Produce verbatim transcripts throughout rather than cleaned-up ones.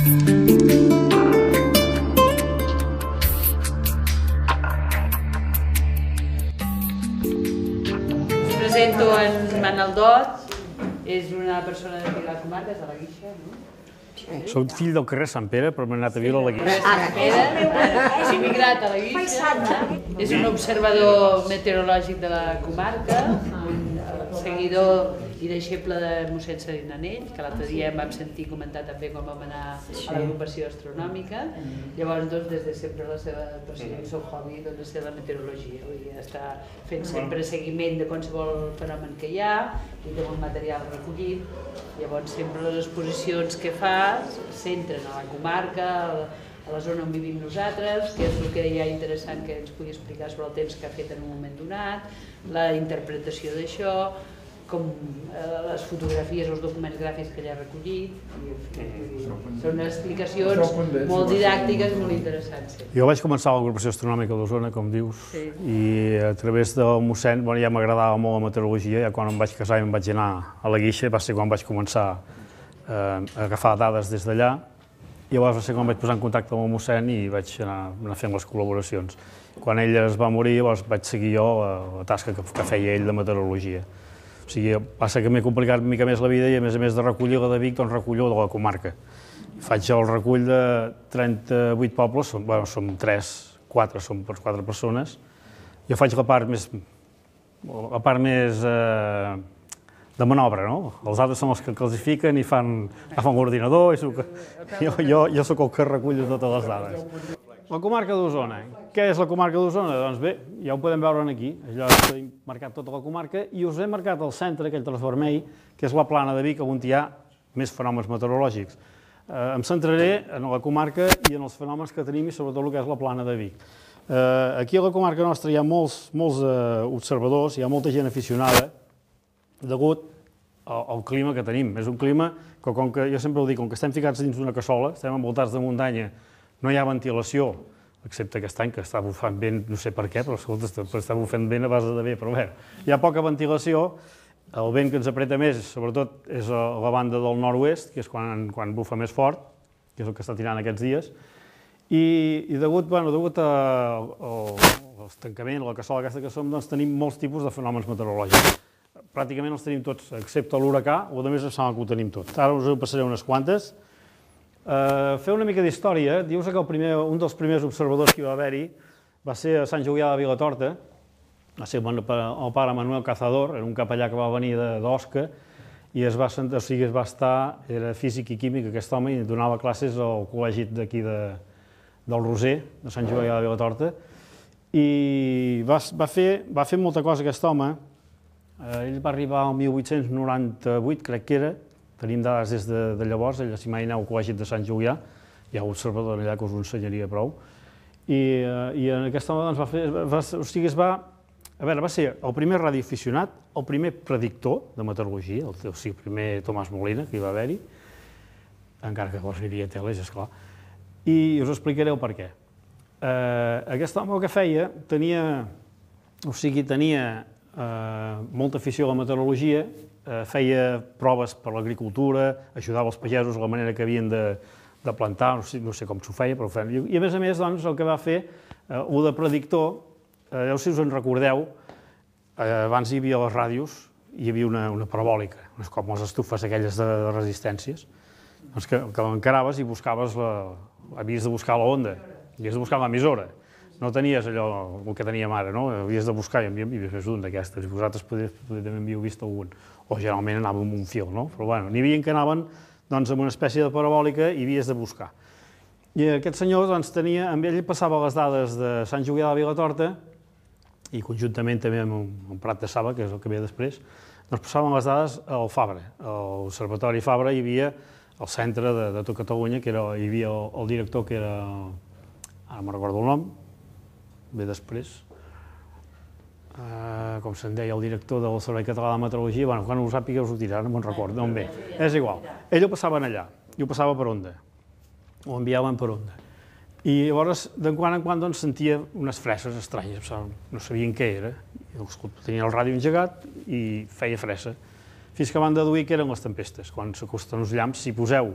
Presento en Manel Dot, és una persona de la comarca, és de la Guixa, no? Soc fill del carrer Sant Pere, però m'he anat a viure a la Guixa. Sant Pere, és immigrat a la Guixa, és un observador meteorològic de la comarca, un seguidor i deixeble de mossèn Serena Anell, que l'altre dia em vam sentir comentar també quan vam anar a l'agrupació astronòmica. Llavors, des de sempre la seva passió i el seu hobby ha ser la meteorologia. Està fent sempre seguiment de qualsevol fenomen que hi ha i té molt material recollit. Llavors, sempre les exposicions que fa centren a la comarca, a la zona on vivim nosaltres, que és el que hi ha interessant que ens pugui explicar sobre el temps que ha fet en un moment donat, la interpretació d'això, com les fotografies, els documents gràfics que ella ha recollit. Són explicacions molt didàctiques i molt interessants. Jo vaig començar a l'agrupació astronòmica d'Osona, com dius, i a través del mossèn ja m'agradava molt la meteorologia. Ja quan em vaig casar i em vaig anar a la Guixa va ser quan vaig començar a agafar dades des d'allà. Llavors va ser quan vaig posar en contacte amb el mossèn i vaig anar fent les col·laboracions. Quan ell es va morir, vaig seguir jo la tasca que feia ell de meteorologia. O sigui, passa que m'he complicat una mica més la vida i a més a més de recollir la de Vic, doncs recullo de la comarca. Faig el recull de trenta-vuit pobles, bueno, som tres, quatre, som per quatre persones. Jo faig la part més, la part més eh, de manobra, no? Els altres són els que classifiquen i fan, fan l'ordinador, i jo, jo, jo sóc el que recull totes les dades. La comarca d'Osona. Què és la comarca d'Osona? Doncs bé, ja ho podem veure aquí. Allò he marcat tota la comarca i us he marcat el centre, aquell traç vermell, que és la plana de Vic, on hi ha més fenòmens meteorològics. Eh, em centraré en la comarca i en els fenòmens que tenim i sobretot el que és la plana de Vic. Eh, aquí a la comarca nostra hi ha molts, molts eh, observadors, hi ha molta gent aficionada, degut al, al clima que tenim. És un clima que, com que jo sempre ho dic, com que estem ficats dins d'una cassola, estem envoltats de muntanya, no hi ha ventilació, excepte aquest any, que està bufant vent, no sé per què, però escolta, està bufant vent a base de bé, però bé, hi ha poca ventilació, el vent que ens apreta més, sobretot, és a la banda del nord-oest, que és quan, quan bufa més fort, que és el que està tirant aquests dies, i, i degut, bueno, degut l'estancament, a la cassola aquesta que som, doncs tenim molts tipus de fenòmens meteorològics. Pràcticament els tenim tots, excepte l'huracà, o a més em sembla que ho tenim tot. Ara us ho passaré unes quantes. Uh, fer una mica d'història, dius que el primer, un dels primers observadors que hi va haver-hi va ser a Sant Julià de Vilatorta, va ser el pare Manuel Cazador, era un capellà que va venir d'Osca, i es va, o sigui, es va estar, era físic i químic aquest home, i donava classes al col·legi d'aquí de, del Roser, de Sant Julià de Vilatorta, i va, va, fer, va fer molta cosa aquest home. Uh, ell va arribar al mil vuit-cents noranta-vuit, crec que era. Tenim dades des de, de llavors, ell si mai aneu al col·legi de Sant Julià, hi ha un observador allà que us ho ensenyaria prou, i, i en aquest home doncs, va fer, va, o sigui, es va, a veure, va ser el primer radioaficionat, el primer predictor de meteorologia, el, o sigui, el primer Tomàs Molina, que hi va haver-hi, encara que llavors hi havia teles, esclar, i us explicaré el per què. Eh, aquest home el que feia, tenia, o sigui, tenia eh, molta afició a la meteorologia, feia proves per l'agricultura, ajudava els pagesos a la manera que havien de, de plantar, no sé, no sé com s'ho feia, però ho feia. I a més a més, doncs, el que va fer, eh, el de predictor, eh, no sé si us en recordeu, eh, abans hi havia les ràdios, hi havia una, una parabòlica, com les estufes aquelles de, de resistències, doncs que, que l'encaraves i buscaves la, havies de buscar la onda, havies de buscar l'emissora. No tenies allò el que teníem ara, no? Havies de buscar i havies vist un d'aquestes, i vosaltres també havíeu vist algun, o generalment anàvem amb un fil, no? Però bueno, n'hi havia que anaven doncs, amb una espècie de parabòlica i havies de buscar. I aquest senyor doncs, tenia, amb ell passava les dades de Sant Julià de Vilatorta, i conjuntament també amb un Prat de Saba, que és el que ve després, doncs passaven les dades al Fabra. A l'Observatori Fabra hi havia el centre de, de tot Catalunya, que era, hi havia el, el director que era, ara me'n recordo el nom, ve després, uh, com se'n deia, el director del Servei Català de Meteorologia, bueno, quan ho sàpiga us ho dirà, no me'n recordo, no em ve, és igual. Ell ho passaven allà, i ho passava per onda, ho enviaven per onda. I llavors, de quan en quan, doncs, sentia unes freses estranyes, no sabien què era, tenien el ràdio engegat i feia fressa, fins que van deduir que eren les tempestes. Quan s'acosten uns llamps, si poseu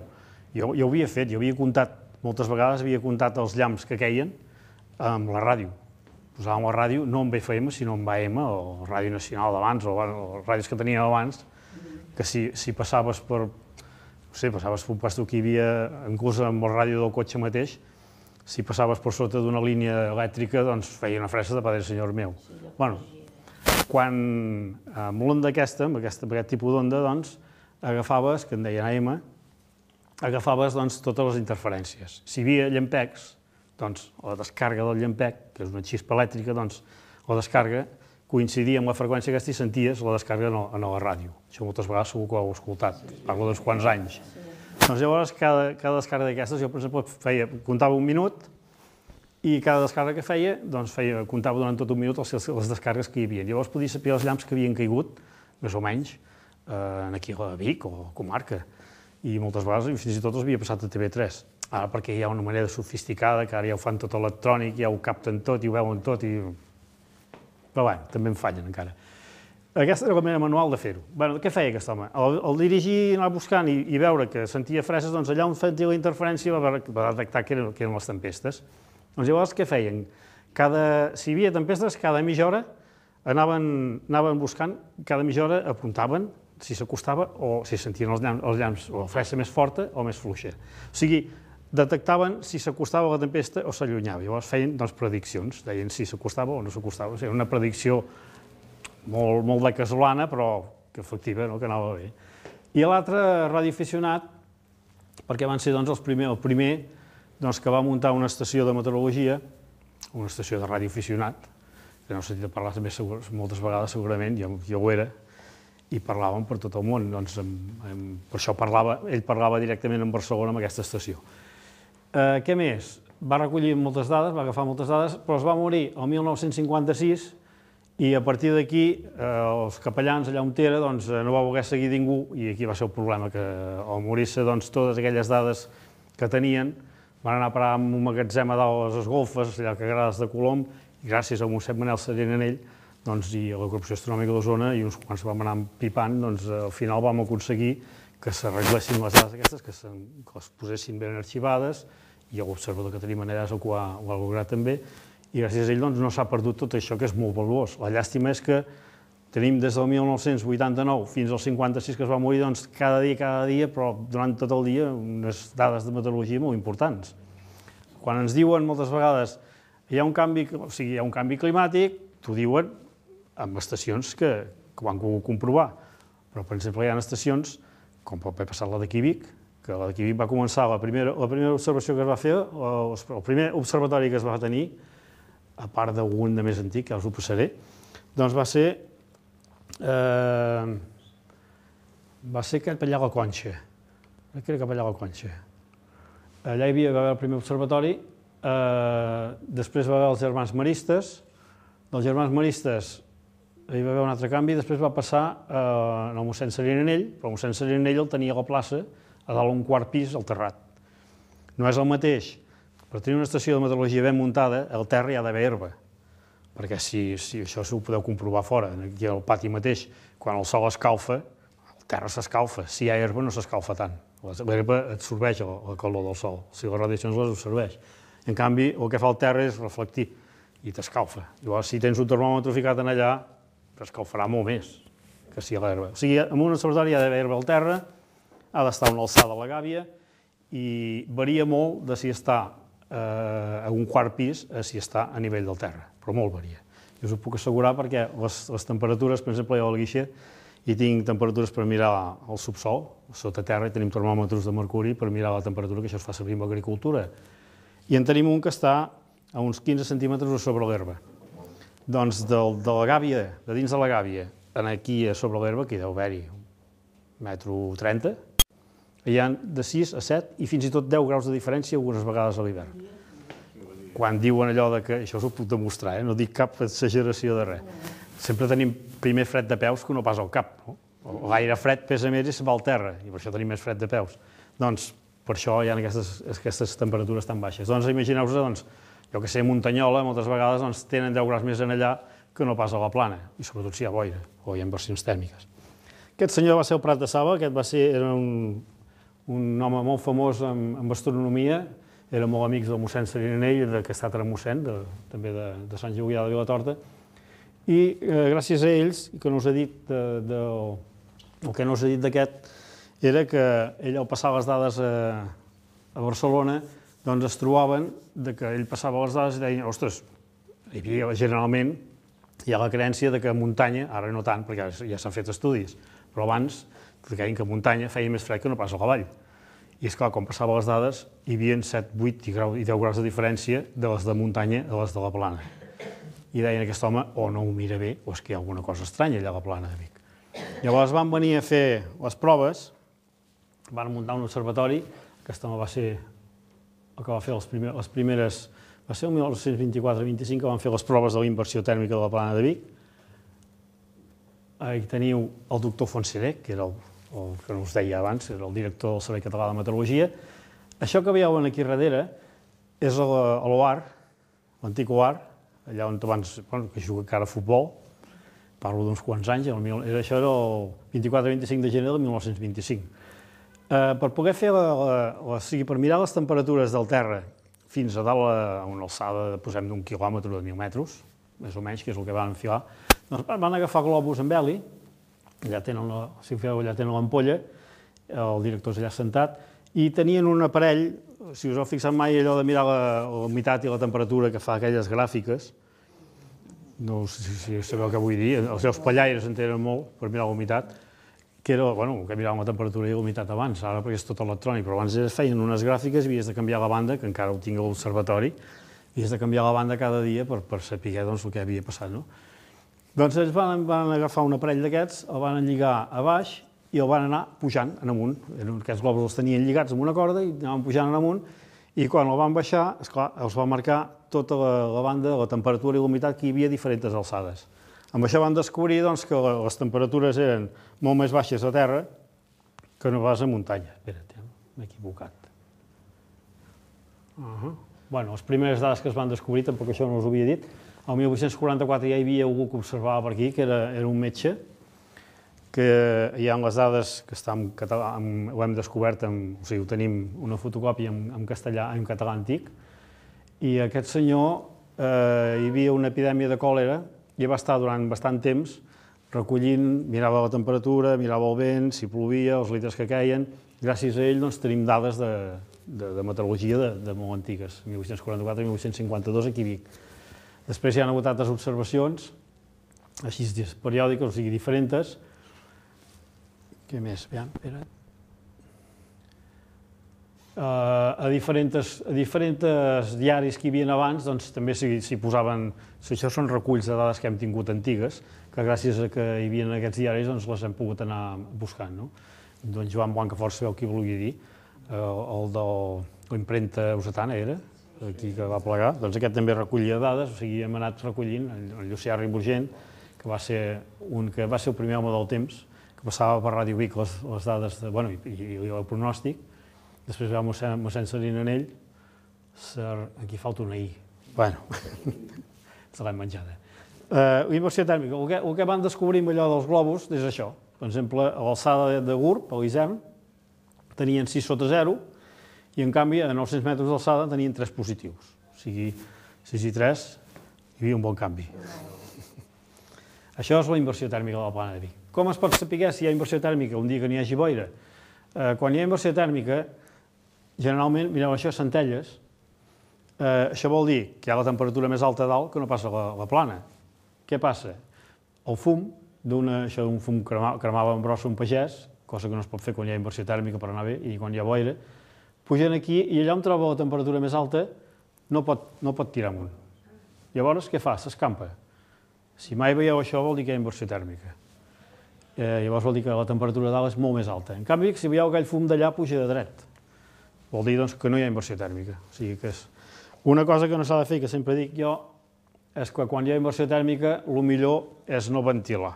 Jo ho havia fet, jo havia comptat, moltes vegades havia comptat els llamps que queien amb la ràdio. Posàvem la ràdio no amb F M, sinó amb A M, o Ràdio Nacional d'abans, o les ràdios que teníem abans, que si passaves per, no sé, passaves per un lloc que hi havia, inclús amb la ràdio del cotxe mateix, si passaves per sota d'una línia elèctrica, doncs feia una fressa de padre senyor meu. Bueno, quan amb l'onda aquesta, amb aquest tipus d'onda, doncs, agafaves, que en deien A M, agafaves totes les interferències. Si hi havia llampecs, doncs la descàrrega del llampec, que és una xispa elèctrica, doncs la descàrrega coincidia amb la freqüència aquesta i senties la descàrrega en la ràdio. Això moltes vegades segur que ho heu escoltat, parlo d'uns quants anys. Doncs llavors, cada descàrrega d'aquestes, jo per exemple feia, comptava un minut i cada descàrrega que feia, doncs feia, comptava durant tot un minut les descàrregues que hi havia. Llavors podia saber els llamps que havien caigut, més o menys, aquí a Vic o a comarca. I moltes vegades, fins i tot els havia passat a T V tres. Ara perquè hi ha una manera sofisticada, que ara ja ho fan tot electrònic, ja ho capten tot i ho veuen tot, i... però bé, també en fallen encara. Aquesta era la manera manual de fer-ho. Bé, què feia aquest home? Al dirigir, anar buscant i veure que sentia freses, doncs allà on sentia la interferència va detectar que eren les tempestes. Doncs llavors què feien? Si hi havia tempestes, cada mitja hora anaven buscant, cada mitja hora apuntaven si s'acostava o si sentien els llamps o la fressa més forta o més fluixa. O sigui, detectaven si s'acostava la tempesta o s'allunyava. Llavors feien prediccions, deien si s'acostava o no s'acostava. Era una predicció molt de casolana, però que efectiva, que anava bé. I l'altre, radioaficionat, perquè van ser el primer que va muntar una estació de meteorologia, una estació de radioaficionat, que no he sentit parlar també moltes vegades segurament, jo ho era, i parlàvem per tot el món. Per això ell parlava directament en Barcelona amb aquesta estació. Què més? Va recollir moltes dades, va agafar moltes dades, però es va morir el mil nou-cents cinquanta-sis i a partir d'aquí els capellans allà on era no va voler seguir ningú i aquí va ser el problema, que al morir-se totes aquelles dades que tenien van anar a parar en un magatzem a dalt a les golfes, allà que agrades de Colom, i gràcies a Mossèn Manel Serenanell i a la Corporació Astronòmica d'Osona i uns quants vam anar pipant, doncs al final vam aconseguir que s'arreglessin les dades aquestes, que les posessin ben arxivades, i l'observador que tenim allà ho ha lograt també, i gràcies a ell no s'ha perdut tot això, que és molt valuós. La llàstima és que tenim des del mil nou-cents vuitanta-nou fins al cinquanta-sis que es va morir, doncs cada dia, cada dia, però durant tot el dia, unes dades de meteorologia molt importants. Quan ens diuen moltes vegades hi ha un canvi, o sigui, hi ha un canvi climàtic, t'ho diuen amb estacions que ho han pogut comprovar. Però, per exemple, hi ha estacions, com pot haver passat la d'aquí Vic, que la d'aquí Vic va començar, la primera observació que es va fer, el primer observatori que es va tenir, a part d'algun de més antic, que us ho passaré, doncs va ser va ser cap allà a la Conxa. Crec que era cap allà a la Conxa. Allà hi havia el primer observatori, després va haver els germans maristes, dels germans maristes hi va haver un altre canvi, després va passar al mossèn Serenanell, però el mossèn Serenanell el tenia a la plaça, a dalt un quart pis, al terrat. No és el mateix, per tenir una estació de meteorologia ben muntada, al terra hi ha d'haver herba, perquè si això ho podeu comprovar fora, aquí al pati mateix, quan el sol escalfa, el terra s'escalfa, si hi ha herba no s'escalfa tant, l'herba absorbeix la calor del sol, si les radiacions les absorbeix. En canvi, el que fa el terra és reflectir i t'escalfa. Llavors, si tens un termòmetre ficat en allà, escalfarà molt més que si a l'herba. O sigui, en un observatori hi ha d'haver herba al terra, ha d'estar a una alçada a la gàbia i varia molt de si està a un quart pis a si està a nivell del terra, però molt varia. I us ho puc assegurar perquè les temperatures, per exemple, jo a la Guixa hi tinc temperatures per mirar al subsol, sota terra hi tenim termòmetres de mercuri per mirar la temperatura, que això es fa servir en l'agricultura. I en tenim un que està a uns quinze centímetres sobre l'herba. Doncs de la gàbia, de dins de la gàbia, aquí sobre l'herba, que hi deu haver-hi un metro trenta, hi ha de sis a set i fins i tot deu graus de diferència algunes vegades a l'hivern. Quan diuen allò que, això us ho puc demostrar, no dic cap exageració de res, sempre tenim primer fred de peus que no pas al cap. L'aire fred pesa més i se'n va al terra, i per això tenim més fred de peus. Doncs per això hi ha aquestes temperatures tan baixes. Doncs imagineu-vos, jo que sé, Muntanyola moltes vegades tenen deu graus més en allà que no pas a la plana, i sobretot si hi ha boira o hi ha inversions tèrmiques. Aquest senyor va ser el Prat de Saba, aquest va ser un un home molt famós en astronomia, era molt amic del mossèn Serinanell, que ha estat mossèn, també de Sant Julià de Vilatorta, i gràcies a ells, que no us he dit, el que no us he dit d'aquest, era que ell al passar les dades a Barcelona, doncs es trobaven que ell passava les dades i deien, ostres, hi havia generalment, hi ha la creença que a muntanya, ara no tant, perquè ja s'han fet estudis, però abans deien que a muntanya feia més fred que no pas a la vall. I esclar, quan passava les dades, hi havia set, vuit i deu graus de diferència de les de muntanya a les de la plana. I deien aquest home, o no ho mira bé, o és que hi ha alguna cosa estranya allà a la plana de Vic. Llavors van venir a fer les proves, van muntar un observatori, aquest home va ser el que va fer les primeres, va ser el mil nou-cents vint-i-quatre vint-i-cinc que van fer les proves de la inversió tèrmica de la plana de Vic. Aquí teniu el doctor Fontserè, que era el que us deia abans, era el director del Servei Català de Meteorologia. Això que veieu aquí darrere és l'O A R, l'antic O A R, allà on abans, que juga encara a futbol, parlo d'uns quants anys, això era el vint-i-quatre vint-i-cinc de gener del mil nou-cents vint-i-cinc. Per poder fer, o sigui, per mirar les temperatures del terra fins a dalt a una alçada, posem d'un quilòmetre o de mil metres, més o menys, que és el que van enfilar, doncs van agafar globus amb heli, allà tenen, si ho feu, allà tenen l'ampolla, el director és allà sentat, i tenien un aparell, si us heu fixat mai allò de mirar la humitat i la temperatura que fa aquelles gràfiques, no sé si sabeu què vull dir, els seus pallaires en tenen molt per mirar la humitat, que era, bueno, que miraven la temperatura i la humitat abans, ara perquè és tot electrònic, però abans es feien unes gràfiques i havies de canviar la banda, que encara ho tinc a l'observatori, havies de canviar la banda cada dia per saber el que havia passat, no? Doncs ells van agafar un aparell d'aquests, el van lligar a baix i el van anar pujant en amunt. Aquests globus els tenien lligats amb una corda i anaven pujant en amunt, i quan el van baixar, esclar, els va marcar tota la banda, la temperatura i la humitat que hi havia a diferents alçades. Amb això van descobrir que les temperatures eren molt més baixes a terra que no pas a muntanya. Espera't, m'he equivocat. Bé, les primeres dades que es van descobrir, tampoc això no us ho havia dit, el mil vuit-cents quaranta-quatre ja hi havia algú que observava per aquí, que era un metge, que hi ha les dades que ho hem descobert, o sigui, tenim una fotocòpia en castellà, en català antic, i aquest senyor, hi havia una epidèmia de còlera, i va estar durant bastant temps recollint, mirava la temperatura, mirava el vent, si plovia, els litres que queien. Gràcies a ell tenim dades de meteorologia de molt antigues, mil vuit-cents quaranta-quatre i mil vuit-cents cinquanta-dos aquí a Vic. Després hi ha hagut altres observacions, així periòdiques, o sigui, diferents. Què més? Aviam, espera. A diferents diaris que hi havia abans, doncs també s'hi posaven, això són reculls de dades que hem tingut antigues, que gràcies a que hi havia aquests diaris les hem pogut anar buscant. Doncs Joan Blancafort, sabeu qui volia dir, el de l'impremta Usetana era, aquí que va plegar, doncs aquest també recollia dades, o sigui, hem anat recollint el Llucià Ribugent, que va ser el primer home del temps, que passava per Ràdio Vic les dades i el pronòstic. Després va mossèn Serinanell, aquí falta una I, bueno, se l'hem menjada. Inversió tèrmica, el que van descobrir amb allò dels globus és això, per exemple, a l'alçada de Gurb, a l'Isern, tenien sis sota zero, i en canvi a nou-cents metres d'alçada tenien tres positius. O sigui, sis i tres, hi havia un bon canvi. Això és la inversió tèrmica de la plana de Vic. Com es pot saber si hi ha inversió tèrmica un dia que n'hi hagi boira? Quan hi ha inversió tèrmica, generalment, mireu, això és centelles, això vol dir que hi ha la temperatura més alta a dalt que no passa a la plana. Què passa? El fum, això d'un fum cremava en brossa un pagès, cosa que no es pot fer quan hi ha inversió tèrmica per anar bé, i quan hi ha boira, pugen aquí i allà on troba la temperatura més alta no pot tirar amunt. Llavors, què fa? S'escampa. Si mai veieu això vol dir que hi ha inversió tèrmica. Llavors vol dir que la temperatura dalt és molt més alta. En canvi, si veieu aquell fum d'allà puja de dret. Vol dir que no hi ha inversió tèrmica. O sigui que és una cosa que no s'ha de fer, que sempre dic jo, és que quan hi ha inversió tèrmica el millor és no ventilar,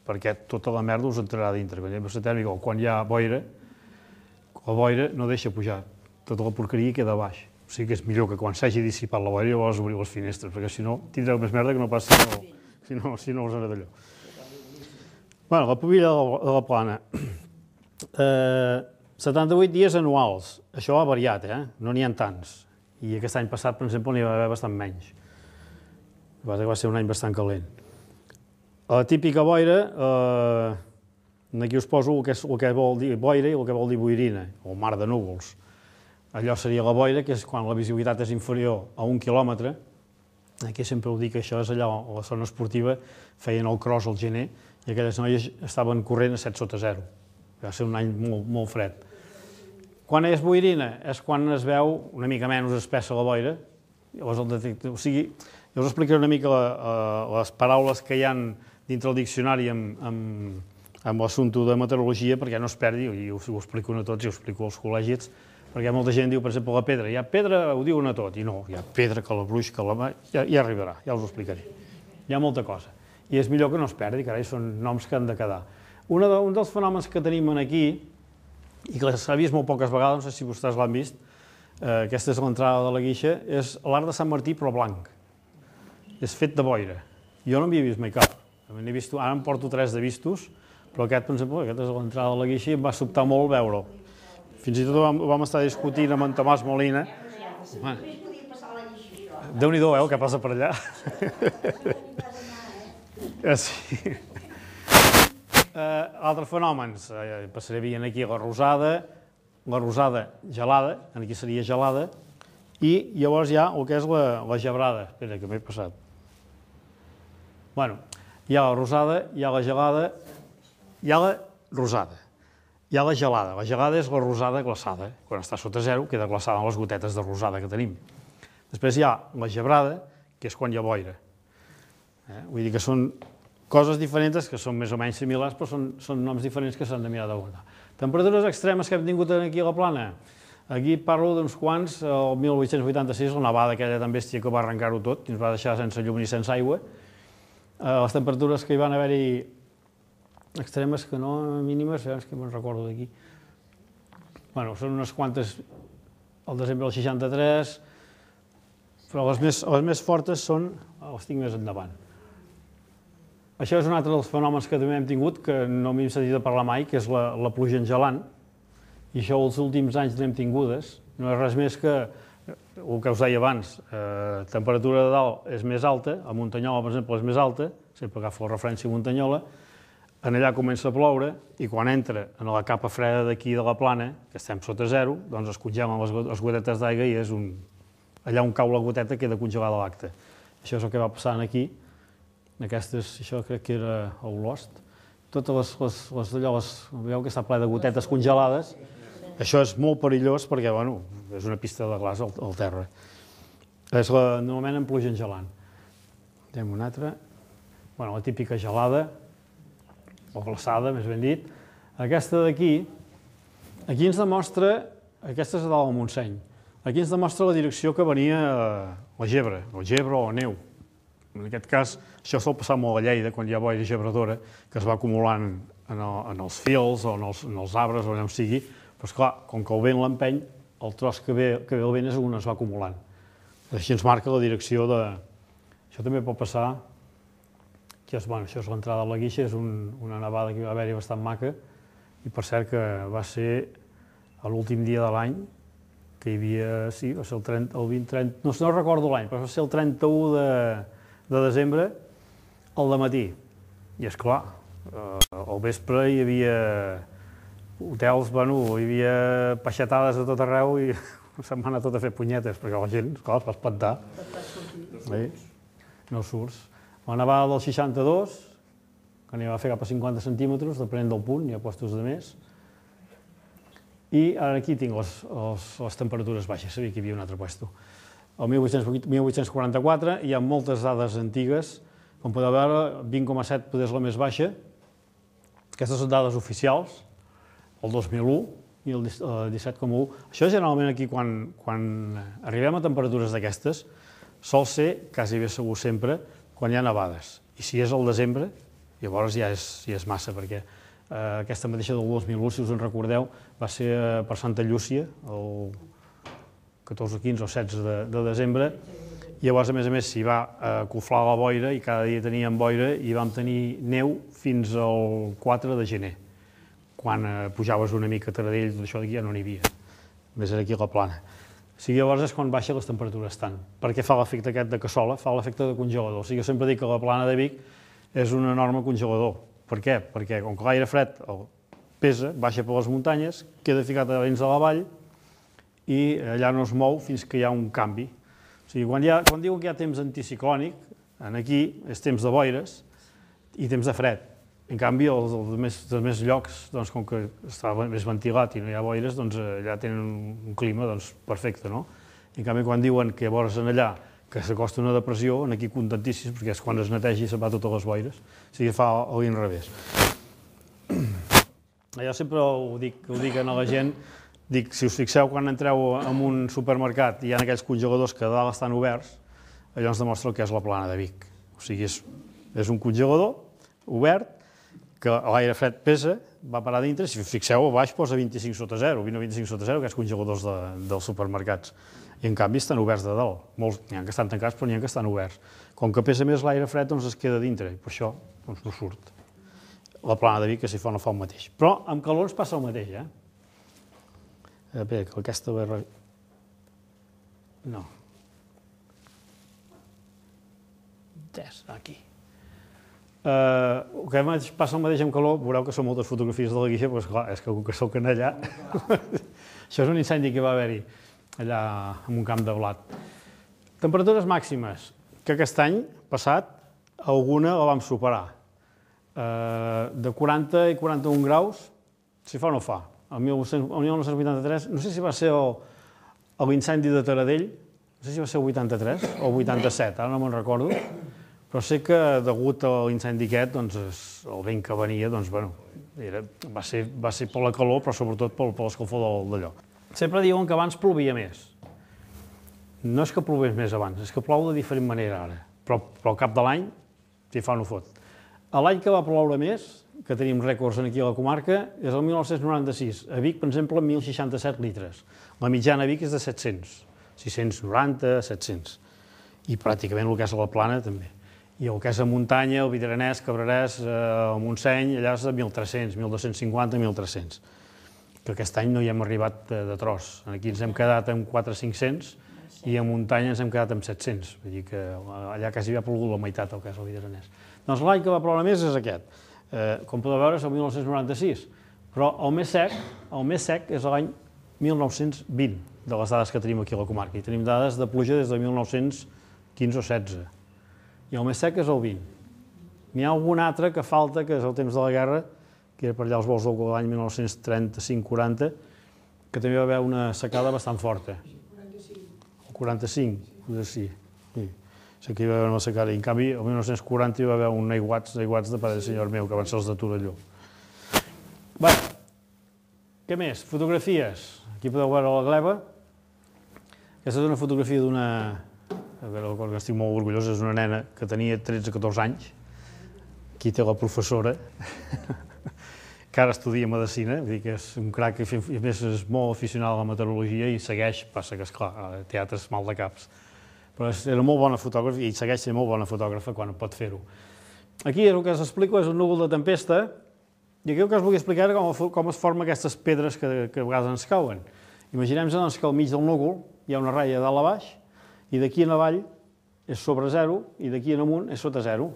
perquè tota la merda us entrarà dintre. Quan hi ha inversió tèrmica o quan hi ha boira, la boira no deixa pujar, tota la porqueria queda a baix. O sigui que és millor que quan s'hagi dissipat la boira llavors obrir les finestres, perquè si no tindreu més merda que no pas si no us aneu d'allò. Bé, la pubilla de la plana. setanta-vuit dies anuals. Això ha variat, eh? No n'hi ha tants. I aquest any passat, per exemple, n'hi va haver bastant menys. Va ser un any bastant calent. A la típica boira, aquí us poso el que vol dir boira i el que vol dir boirina, o mar de núvols. Allò seria la boira, que és quan la visibilitat és inferior a un quilòmetre. Aquí sempre ho dic, això és allà a la zona esportiva, feien el cross al gener i aquelles noies estaven corrent a set sota zero. Va ser un any molt, molt fred. Quan és boirina? És quan es veu una mica menys espessa la boira. Llavors el detector, o sigui, jo us explicaré una mica la, uh, les paraules que hi ha dintre el diccionari amb, amb, amb l'assumpte de meteorologia perquè no es perdi, i us ho explico a tots i ho explico als col·legis, perquè molta gent diu, per exemple, la pedra. Hi ha pedra, ho diuen a tot, i no, hi ha pedra, que la bruix, que la... Ja, ja arribarà, ja us ho explicaré. Hi ha molta cosa. I és millor que no es perdi, carai, són noms que han de quedar. Una de, un dels fenòmens que tenim aquí, i que s'ha vist molt poques vegades, no sé si vostès l'han vist, eh, aquesta és l'entrada de la Guixa, és l'arc de Sant Martí, però blanc. És fet de boira. Jo no n'havia vist mai cap. Vist, ara en porto tres de vistos, però aquest, per exemple, aquest és l'entrada de la Guixa i em va sobtar molt veure'l. Fins i tot vam, vam estar discutint amb en Tomàs Molina. Déu-n'hi-do, eh, el que passa per allà. Sí. Altres fenòmens, passaré veient aquí la rosada, la rosada gelada, aquí seria gelada, i llavors hi ha el que és la, la gebrada. Espera, que m'he passat. Bueno, hi ha la rosada, hi ha la gelada, hi ha la rosada. Hi ha la gelada. La gelada és la rosada glaçada. Quan està sota zero queda glaçada en les gotetes de rosada que tenim. Després hi ha la gebrada, que és quan hi ha boira. Eh? Vull dir que són coses diferents que són més o menys similars, però són, són noms diferents que s'han de mirar d'aguantar. Temperatures extremes que hem tingut aquí a la plana. Aquí parlo d'uns quants, el mil vuit-cents vuitanta-sis, la nevada aquella tan bèstia que va arrencar-ho tot, i ens va deixar sense llum ni sense aigua. Les temperatures que hi van haver-hi extremes que no mínimes, és que me'n recordo d'aquí. Bueno, són unes quantes al desembre del seixanta-tres, però les més, les més fortes són, les tinc més endavant. Això és un altre dels fenòmens que també hem tingut, que no m'he sentit a parlar mai, que és la, la pluja engelant, i això els últims anys n'hem tingudes. No és res més que el que us deia abans, eh, temperatura de dalt és més alta, a Muntanyola, per exemple, és més alta, sempre agafo la referència a Muntanyola, en allà comença a ploure i quan entra en la capa freda d'aquí de la plana, que estem sota zero, doncs es congelen les, les gotetes d'aigua i és un... allà on cau la goteta queda congelada l'acte. Això és el que va passant aquí. Aquestes, això crec que era a Olost. Totes les, les, les allò, les, veieu que està ple de gotetes congelades. Això és molt perillós perquè, bueno, és una pista de glaç al, al terra. És la, normalment en pluja engelant. Anem una altra. Bueno, la típica gelada, o glaçada, més ben dit. Aquesta d'aquí, aquí ens demostra, aquesta és a dalt del Montseny, aquí ens demostra la direcció que venia la gebre, o gebre o neu. En aquest cas, això sol passar molt a Lleida, quan hi ha boira gebradora, que es va acumulant en, el, en els fils o en els, en els arbres o allà on sigui, però esclar, com que el vent l'empeny, el tros que ve, que ve el vent és on es va acumulant. Així ens marca la direcció de... Això també pot passar, que és, bueno, això és l'entrada a la Guixa, és un, una nevada que va haver-hi bastant maca, i per cert que va ser l'últim dia de l'any, que hi havia, sí, va ser el, trenta, el vint, trenta, no, no recordo l'any, però va ser el trenta-u de, de desembre, al dematí. I esclar, eh, al vespre hi havia hotels, bueno, hi havia peixatades a tot arreu i se'm va anar tot a fer punyetes, perquè la gent, esclar, es va espantar. Sí, no surts. La nevada del seixanta-dos, que n'hi va fer cap a cinquanta centímetres, depenent del punt, hi ha puestos de més. I ara aquí tinc les, les, les temperatures baixes, sabia que hi havia un altre puesto. El mil vuit-cents quaranta-quatre hi ha moltes dades antigues, com podeu veure, vint coma set poder és la més baixa. Aquestes són dades oficials, el dos mil u i el disset coma u. Això generalment aquí, quan, quan arribem a temperatures d'aquestes, sol ser, quasi bé segur sempre, quan hi ha nevades. I si és al desembre, llavors ja és, ja és massa, perquè eh, aquesta mateixa del dos mil u, si us en recordeu, va ser eh, per Santa Llúcia, el catorze, quinze o setze de, de desembre, i llavors, a més a més, s'hi va acoflar la boira i cada dia teníem boira i vam tenir neu fins al quatre de gener. quan pujaves una mica a Taradell, tot això d'aquí ja no n'hi havia. Només era aquí a la plana. O sigui, llavors és quan baixen les temperatures tant. Perquè fa l'efecte aquest de cassola, fa l'efecte de congelador. O sigui, jo sempre dic que la plana de Vic és un enorme congelador. Per què? Perquè com que l'aire fred pesa, baixa per les muntanyes, queda ficat a dins de la vall i allà no es mou fins que hi ha un canvi. O sigui, quan, hi ha, quan diuen que hi ha temps anticiclònic, aquí és temps de boires i temps de fred. En canvi, els, els, més, els més llocs, doncs, com que està més ventilat i no hi ha boires, doncs, allà tenen un clima doncs, perfecte. No? En canvi, quan diuen que llavors en allà que s'acosta una depressió, aquí contentíssims, perquè és quan es netegi i se'n va totes les boires. O sigui, fa a l'inrevés. Jo sempre ho dic, ho dic a la gent, dic, si us fixeu, quan entreu en un supermercat i hi ha aquells congeladors que a dalt estan oberts, allò ens demostra el que és la plana de Vic. O sigui, és, és un congelador obert, que l'aire fred pesa, va parar dintre, si us fixeu, a baix posa vint-i-cinc sota zero, vint o vint-i-cinc sota zero, aquests congeladors de, dels supermercats. I en canvi estan oberts de dalt. Molts n'hi ha que estan tancats, però n'hi ha que estan oberts. Com que pesa més l'aire fred, doncs es queda dintre, i per això doncs, no surt. La plana de Vic, que si fa no fa el mateix. Però amb calor ens passa el mateix, eh? Bé, que aquesta... No. Aquí. Uh, el que passa el mateix amb calor, veureu que són moltes fotografies de la guixa, però esclar, és que com que soc en allà... Això és un incendi que va haver-hi allà en un camp de blat. Temperatures màximes, que aquest any passat alguna la vam superar. Uh, de quaranta i quaranta-un graus, si fa o no fa. El mil nou-cents vuitanta-tres, no sé si va ser l'incendi de Taradell, no sé si va ser el vuitanta-tres o el vuitanta-set, ara no me'n recordo, però sé que degut a l'incendi aquest, doncs, el vent que venia, doncs, bueno, era, va, ser, va ser per la calor, però sobretot per, per l'escalfor d'allò. Sempre diuen que abans plovia més. No és que plovés més abans, és que plou de diferent manera ara, però, però al cap de l'any, si fa no fot. L'any que va ploure més, que tenim rècords aquí a la comarca, és el mil nou-cents noranta-sis. A Vic, per exemple, mil seixanta-set litres. La mitjana a Vic és de set-cents, sis-cents noranta, set-cents. I pràcticament el que és a la plana també. I el que és a muntanya, el Vidranès, Cabrerès, el Montseny, allà és de mil tres-cents, mil dos-cents cinquanta, mil tres-cents. Que aquest any no hi hem arribat de, de tros. Aquí ens hem quedat amb quatre-cinc-cents i a muntanya ens hem quedat amb set-cents. Vull dir que allà quasi havia plogut la meitat el que és el Vidranès. Doncs l'any que va ploure més és aquest. Eh, com podeu veure és el mil nou-cents noranta-sis. Però el més sec, el més sec és l'any mil nou-cents vint, de les dades que tenim aquí a la comarca. I tenim dades de pluja des de mil nou-cents quinze o setze. I el més sec és el vint. N'hi ha algun altre que falta, que és el temps de la guerra, que era per allà els vols de l'any mil nou-cents trenta-cinc quaranta, que també va haver una secada bastant forta. El quaranta-cinc, potser sí. Sí. Sé que hi va haver una secada. I en canvi, el mil nou-cents quaranta hi va haver un aiguats, aiguats de pare del senyor meu, que van ser els de Torelló. Bé, què més? Fotografies. Aquí podeu veure la gleba. Aquesta és una fotografia d'una... A veure, el que estic molt orgullós és una nena que tenia tretze o catorze anys. Aquí té la professora, que ara estudia medicina, vull dir que és un crac i a més és molt aficionada a la meteorologia i segueix, passa que esclar, té altres mal de caps. Però era molt bona fotògrafa i segueix sent molt bona fotògrafa quan pot fer-ho. Aquí el que us explico és un núvol de tempesta i aquí el que us vull explicar és com, com es formen aquestes pedres que, que a vegades ens cauen. Imaginem-nos doncs, que al mig del núvol hi ha una ratlla dalt a baix i d'aquí en avall és sobre zero i d'aquí en amunt és sota zero.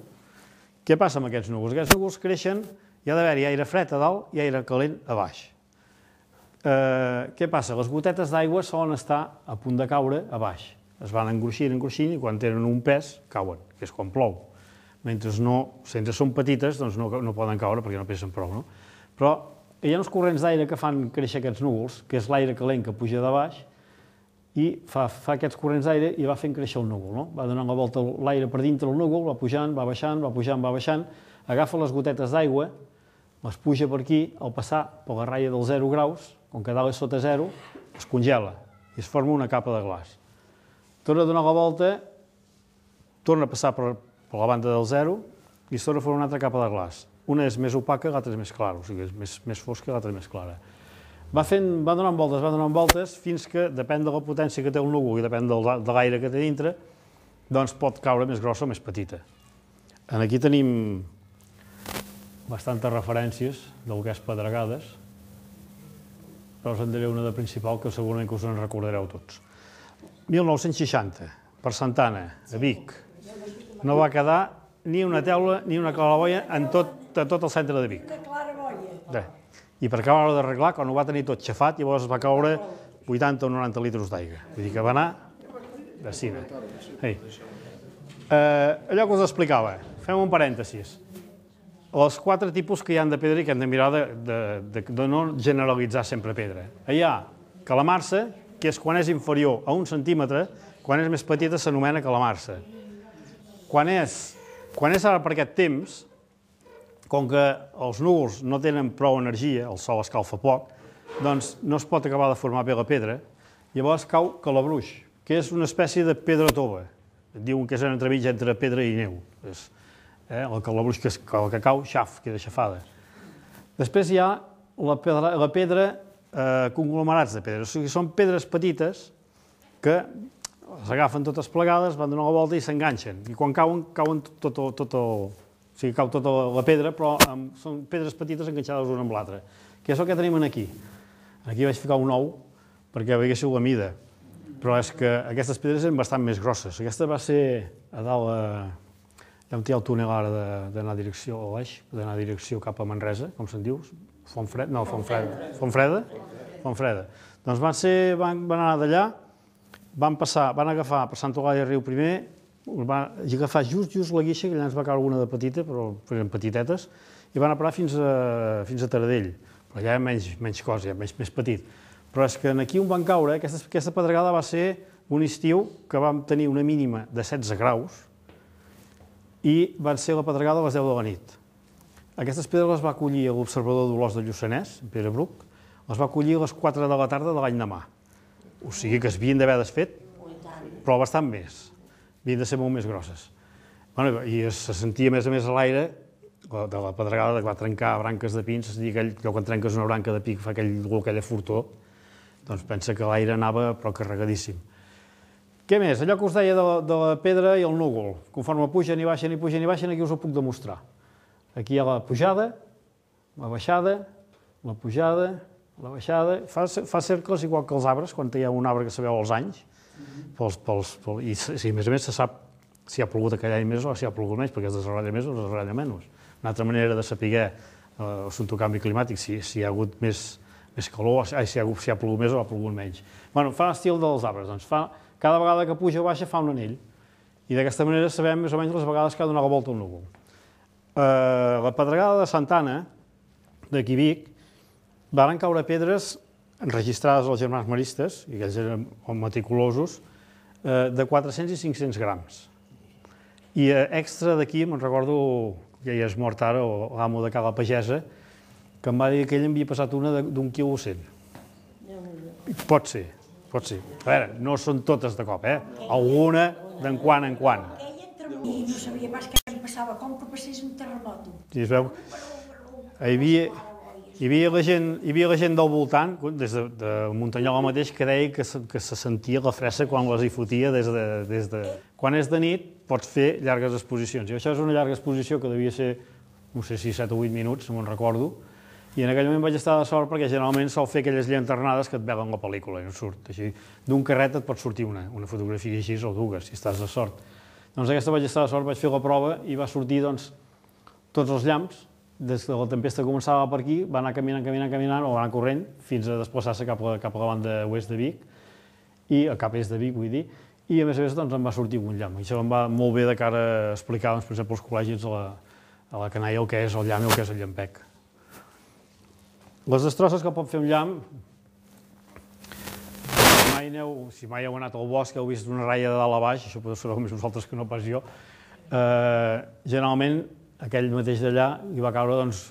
Què passa amb aquests núvols? Aquests núvols creixen, hi ha d'haver-hi aire fred a dalt i aire calent a baix. Eh, què passa? Les gotetes d'aigua solen estar a punt de caure a baix. Es van engruixint, engruixint, i quan tenen un pes, cauen, que és quan plou. Mentre no, sense són petites, doncs no, no poden caure perquè no pesen prou, no? Però hi ha uns corrents d'aire que fan créixer aquests núvols, que és l'aire calent que puja de baix, i fa, fa aquests corrents d'aire i va fent créixer el núvol, no? Va donant la volta l'aire per dintre del núvol, va pujant, va baixant, va pujant, va baixant, agafa les gotetes d'aigua, les puja per aquí, al passar per la ratlla dels zero graus, com que dalt és sota zero, es congela i es forma una capa de glaç. Torna a donar la volta, torna a passar per, per la banda del zero i es torna a formar una altra capa de glaç. Una és més opaca, l'altra és més clara, o sigui, és més, més fosca i l'altra és més clara. Va, fent, va donant voltes, va donant voltes, fins que, depèn de la potència que té el núvol i depèn del, de l'aire que té dintre, doncs pot caure més grossa o més petita. Aquí tenim bastantes referències del que és Pedregades, però us en diré una de principal que segurament que us en recordareu tots. mil nou-cents seixanta, per Santa Anna, a Vic, no va quedar ni una teula ni una claraboia en tot, en tot el centre de Vic. Una claraboia. I per acabar d'arreglar, quan ho va tenir tot xafat, llavors va caure vuitanta o noranta litres d'aigua. Vull dir que va anar de cine. Hey. Eh, allò que us explicava, fem un parèntesis. Els quatre tipus que hi ha de pedra i que hem de mirar de, de, de, de no generalitzar sempre pedra. Hi ha calamarsa, que és quan és inferior a un centímetre, quan és més petita s'anomena calamarsa. Quan és, quan és ara per aquest temps, com que els núvols no tenen prou energia, el sol escalfa poc, doncs no es pot acabar de formar bé la pedra, llavors cau calabruix, que és una espècie de pedra tova. Diuen que és en entremig entre pedra i neu. És, eh, el calabruix que, el que cau, xaf, queda xafada. Després hi ha la pedra, la pedra eh, conglomerats de pedres. O sigui, són pedres petites que s'agafen totes plegades, van donar la volta i s'enganxen. I quan cauen, cauen tot, tot, tot el... O sigui, cau tota la pedra, però amb, són pedres petites enganxades una amb l'altra. Que és el que tenim aquí. Aquí vaig ficar un ou perquè veiéssiu la mida. Però és que aquestes pedres eren bastant més grosses. Aquesta va ser a dalt, a... hi ha un el túnel ara d'anar a direcció a l'Eix, d'anar a direcció cap a Manresa, com se'n diu? Fontfreda? No, Fontfreda. Fontfreda? Fontfreda. Doncs van, ser, van, van anar d'allà, van passar, van agafar per Sant Eulàlia Riu primer, van agafar just, just la guixa, que allà ens va caure una de petita, però eren petitetes, i van a parar fins a, fins a Taradell. Però allà hi ha menys, menys cosa, ja, menys, més petit. Però és que aquí on van caure, aquesta, aquesta pedregada va ser un estiu que vam tenir una mínima de setze graus i van ser la pedregada a les deu de la nit. Aquestes pedres les va acollir l'observador d'Olors de Lluçanès, Pere Bruc, les va acollir a les quatre de la tarda de l'any demà. O sigui que es havien d'haver desfet, però bastant més. Havien de ser molt més grosses. Bueno, i se sentia més a més a l'aire de la pedregada que va trencar branques de pins, és a dir, aquell, quan trenques una branca de pi que fa aquell, aquella fortor, doncs pensa que l'aire anava però carregadíssim. Què més? Allò que us deia de la, de la pedra i el núvol. Conforme pugen i baixen i pugen i baixen, aquí us ho puc demostrar. Aquí hi ha la pujada, la baixada, la pujada, la baixada. Fa, fa cercles igual que els arbres, quan hi ha un arbre que se veu als anys. Pels, pels, pels, I si, a més a més se sap si ha plogut aquell any més o si ha plogut menys, perquè es desarrolla més o es desarrolla menys. Una altra manera de saber eh, el canvi climàtic, si, si hi ha hagut més, més calor, si ha, si ha plogut més o ha plogut menys. Bueno, fa l'estil dels arbres, doncs fa, cada vegada que puja o baixa fa un anell. I d'aquesta manera sabem més o menys les vegades que ha donat la volta al núvol. Eh, la pedregada de Santa Anna, d'aquí Vic, van caure pedres enregistrades als germans maristes, i aquells eren meticulosos, eh, de quatre-cents i cinc-cents grams. I eh, extra d'aquí, me'n recordo, que ja és mort ara, o l'amo de Cala Pagesa, que em va dir que ell havia passat una d'un quilo cent. Pot ser, pot ser. A veure, no són totes de cop, eh? Alguna d'en quan en quan. I no sabia pas què em passava, com que passés un terremoto. I es veu, hi havia, hi havia, la, gent, hi havia la gent del voltant, des de, de Muntanyola mateix, que deia que se, que se sentia la fressa quan les hi fotia des de, des de... Quan és de nit, pots fer llargues exposicions. I això és una llarga exposició que devia ser, no sé si set o vuit minuts, no me'n recordo, i en aquell moment vaig estar de sort perquè generalment sol fer aquelles llanternades que et velen la pel·lícula i no surt. Així, d'un carret et pot sortir una, una fotografia així o dues, si estàs de sort. Doncs aquesta vaig estar de sort, vaig fer la prova i va sortir doncs, tots els llamps, des que la tempesta començava per aquí, va anar caminant, caminant, caminant, o va anar corrent, fins a desplaçar-se cap, cap a la banda oest de Vic, i cap a est de Vic, vull dir, i a més a més doncs, em va sortir un llamp. I això em va molt bé de cara a explicar, doncs, per exemple, als col·legis a la, a la canalla el que és el llamp i el que és el llampec. Les destrosses que pot fer un llamp, si mai, aneu, si mai heu anat al bosc, heu vist una ratlla de dalt a baix, això podeu ser més vosaltres que no pas jo, eh, generalment aquell mateix d'allà hi va caure, doncs,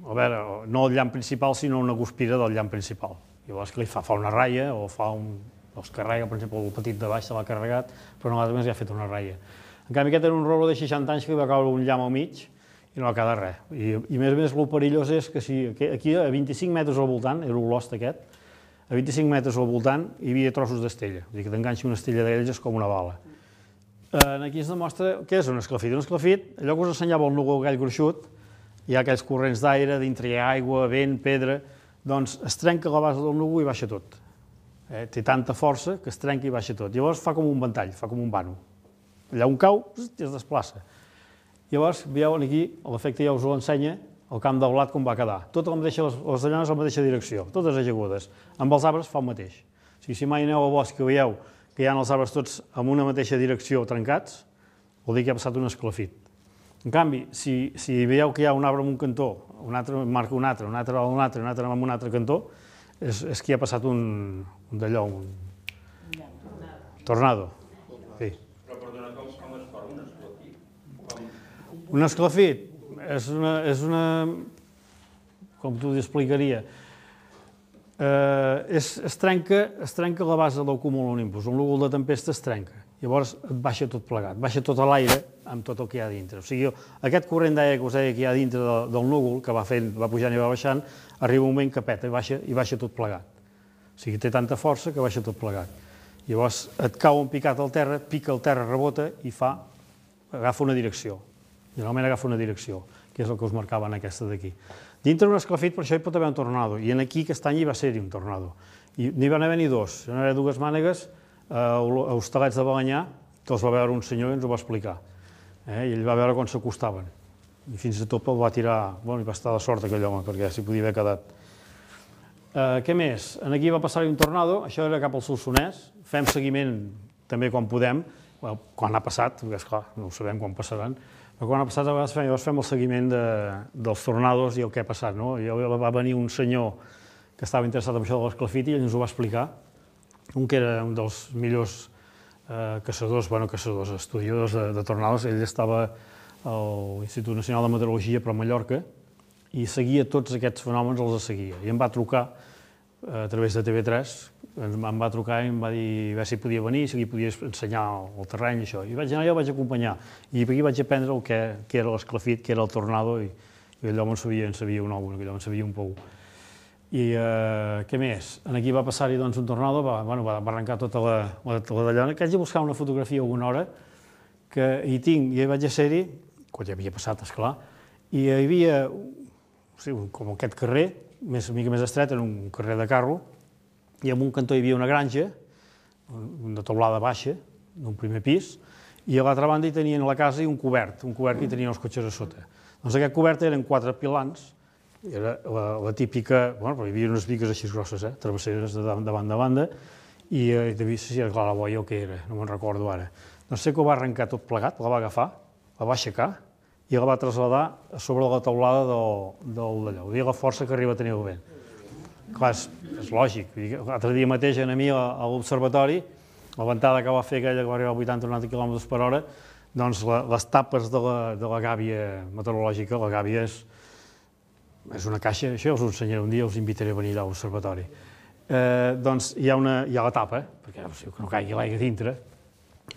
a veure, no el llamp principal, sinó una guspira del llamp principal. Llavors que li fa, fa una ratlla o fa un... els carrega, per exemple, el petit de baix se l'ha carregat, però no l'altre més li ha fet una ratlla. En canvi, aquest era un rolo de seixanta anys que li va caure un llamp al mig i no va quedar res. I, i més a més, el perillós és que si aquí a vint-i-cinc metres al voltant, era l'olost aquest, a vint-i-cinc metres al voltant hi havia trossos d'estella, vull dir que t'enganxi una estella d'ells és com una bala. Aquí es demostra què és un esclafit. Un esclafit, allò que us ensenyava el núvol aquell gruixut, hi ha aquells corrents d'aire, dintre hi ha aigua, vent, pedra, doncs es trenca la base del núvol i baixa tot. Té tanta força que es trenca i baixa tot. Llavors fa com un ventall, fa com un vano. Allà on cau, es desplaça. Llavors, veieu aquí, l'efecte ja us ho ensenya, el camp de blat com va quedar. Totes les llanes a la mateixa direcció, totes ajagudes. Amb els arbres fa el mateix. O sigui, si mai aneu al bosc i veieu que hi ha els arbres tots en una mateixa direcció trencats, vol dir que ha passat un esclafit. En canvi, si, si veieu que hi ha un arbre en un cantó, un altre marca un altre, un altre en un altre, un altre en un altre cantó, és, és que hi ha passat un, un d'allò, un tornado. Sí. Però perdona, com, com es forma un esclafit? Com... Un esclafit és una, és una, com t'ho explicaria, eh, és, es, trenca, es trenca la base del cumulonimbus, un núvol de tempesta es trenca. Llavors et baixa tot plegat, baixa tot a l'aire amb tot el que hi ha dintre. O sigui, aquest corrent d'aire que us deia que hi ha dintre de, del núvol, que va, fent, va pujant i va baixant, arriba un moment que peta i baixa, i baixa tot plegat. O sigui, té tanta força que baixa tot plegat. Llavors et cau un picat al terra, pica el terra, rebota i fa, agafa una direcció. Generalment agafa una direcció, que és el que us marcava en aquesta d'aquí. Dintre d'un esclafit, per això hi pot haver un tornado, i en aquí aquest any hi va ser-hi un tornado. I n'hi van haver ni dos, hi van haver dues mànegues, a Hostalets de Balenyà, que els va veure un senyor i ens ho va explicar. Eh? I ell va veure quan s'acostaven. I fins i tot el va tirar... Bueno, i va estar de sort aquell home, perquè s'hi podia haver quedat. Eh, què més? Aquí va passar-hi un tornado, això era cap al Solsonès. Fem seguiment també quan podem, quan ha passat, perquè esclar, no ho sabem quan passaran, però quan ha passat a vegades fem, fem el seguiment de, dels tornados i el que ha passat. No? I va venir un senyor que estava interessat en això de l'esclafit i ell ens ho va explicar. Un que era un dels millors eh, caçadors, bueno, caçadors, estudiadors de, de tornados. Ell estava a l'Institut Nacional de Meteorologia, però a Mallorca, i seguia tots aquests fenòmens, els seguia. I em va trucar eh, a través de T V tres, em va trucar i em va dir a veure si podia venir, si li podia ensenyar el terreny i això. I vaig anar, jo el vaig acompanyar. I aquí vaig aprendre el que, que era l'esclafit, que era el tornado, i, i allò en sabia, en sabia un ou, allò en sabia un pou. I eh, què més? Aquí va passar-hi doncs, un tornado, va, bueno, va, va arrencar tota la, la, la d'allò. Que haig de buscar una fotografia alguna hora, que hi tinc, i vaig a ser-hi, quan ja havia passat, esclar, i hi havia, o sigui, com aquest carrer, més, una mica més estret, era un carrer de carro, i en un cantó hi havia una granja, una teulada baixa, d'un primer pis, i a l'altra banda hi tenien la casa i un cobert, un cobert que hi tenien els cotxes a sota. Doncs aquest cobert eren quatre pilans, era la, la típica, bueno, però hi havia unes bigues així grosses, eh, travesseres de, de banda a banda, i eh, devia ser si era clar la boia o què era, no me'n recordo ara. Doncs sé que ho va arrencar tot plegat, la va agafar, la va aixecar i la va traslladar a sobre la teulada del, del d'allò. Ho dia la força que arriba a tenir el vent. Clar, és, és lògic. L'altre dia mateix, a mi, a l'observatori, la ventada que va fer aquella que va arribar a vuitanta o noranta quilòmetres per hora, doncs la, les tapes de la, de la gàbia meteorològica, la gàbia és és una caixa, això us ho ensenyaré un dia, us invitaré a venir a l'observatori. Eh, doncs hi ha, una, hi ha la tapa, perquè o sigui, que no caigui l'aigua dintre,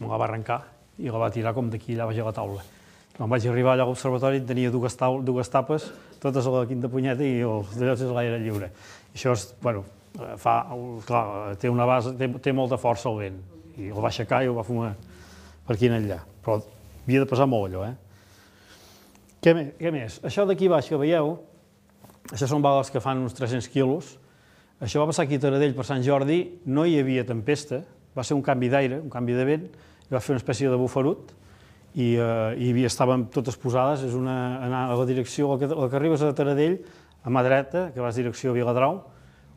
me la va arrencar i la va tirar com d'aquí allà baix a la taula. Quan vaig arribar allà a l'observatori tenia dues, taul, dues tapes, totes a la quinta punyeta i els d'allòs és l'aire lliure. I això és, bueno, fa, clar, té una base, té, té molta força el vent, i el va aixecar i el va fumar per aquí en allà, però havia de pesar molt allò, eh? Què més? Què més? Això d'aquí baix que veieu, això són bales que fan uns tres-cents quilos. Això va passar aquí a Taradell per Sant Jordi, no hi havia tempesta, va ser un canvi d'aire, un canvi de vent, i va fer una espècie de bufarut, i, eh, i estaven totes posades, és una, anar a la direcció, el que, el que arribes a Taradell, a mà dreta, que vas direcció a Viladrau,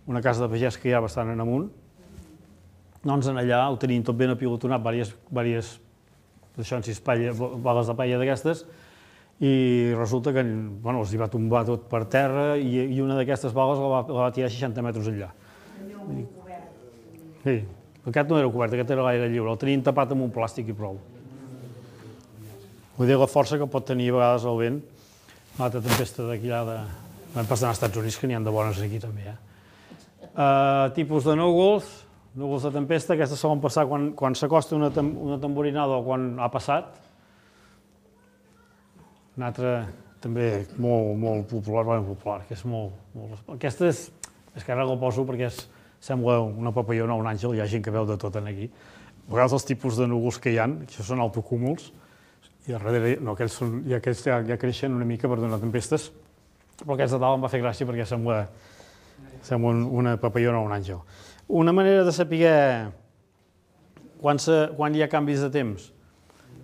una casa de pagès que hi ha bastant en amunt, doncs en allà ho tenim tot ben apilotonat, diverses, diverses això en sis paella, bales de paella d'aquestes, i resulta que bueno, els hi va tombar tot per terra i, i una d'aquestes bales la va, la va tirar seixanta metres enllà. Sí, aquest no era cobert, aquest era l'aire lliure, el tenien tapat amb un plàstic i prou. Vull dir la força que pot tenir a vegades el vent, l'altra tempesta d'aquí allà de... Vam passar als Estats Units, que n'hi ha de bones aquí també. Eh? Uh, tipus de núvols, núvols de tempesta, aquestes solen passar quan, quan s'acosta una, tem una tamborinada o quan ha passat. Un altre també molt, molt popular, bueno, popular, que és molt... molt... Aquesta és, és que ara la poso perquè és, sembla una papallona o un àngel, hi ha gent que veu de tot aquí. A vegades els tipus de núvols que hi ha, que això són autocúmuls, i a darrere, no, aquells, són, i aquells ja, ja creixen una mica per donar tempestes, però aquests de dalt em va fer gràcia perquè sembla, sembla un, una papallona o un àngel. Una manera de saber quan, se, quan hi ha canvis de temps,